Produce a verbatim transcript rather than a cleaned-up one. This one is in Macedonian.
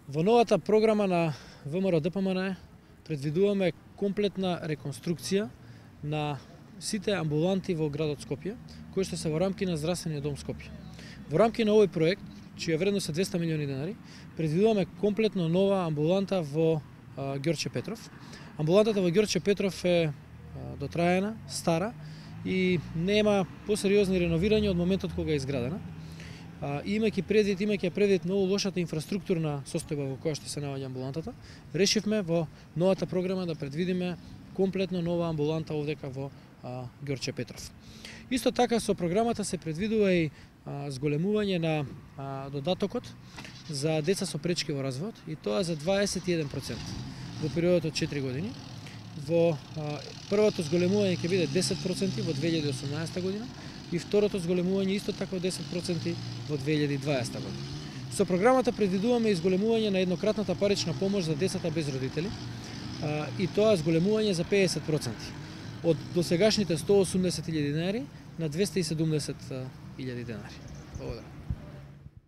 Во новата програма на ВМРО-ДПМН предвидуваме комплетна реконструкција на сите амбуланти во градот Скопје, кои што се во рамки на Здравствениот дом Скопје. Во рамки на овој проект, чија вредност е двесте милиони денари, предвидуваме комплетно нова амбуланта во а, Ѓорче Петров. Амбулантата во Ѓорче Петров е а, дотраена, стара и нема посериозни реновирања од моментот кога е изградена. А, имајќи предвид, имајќи предвид многу лошата инфраструктурна состојба во која што се наоѓа амбулантата, решивме во новата програма да предвидиме комплетно нова амбуланта овдека во а, Ѓорче Петров. Исто така со програмата се предвидува и а, зголемување на а, додатокот за деца со пречки во развојот, и тоа за дваесет и еден проценти во периодот од четири години. Во а, првото зголемување ќе биде десет проценти во две илјади и осумнаесета година и второто зголемување исто така десет проценти во две илјади и дваесета година. Со програмата предвидуваме изголемување на еднократната парична помош за децата без родители, а, и тоа зголемување за педесет проценти од досегашните сто осумдесет илјади денари на двесте и седумдесет илјади денари. Благодарам.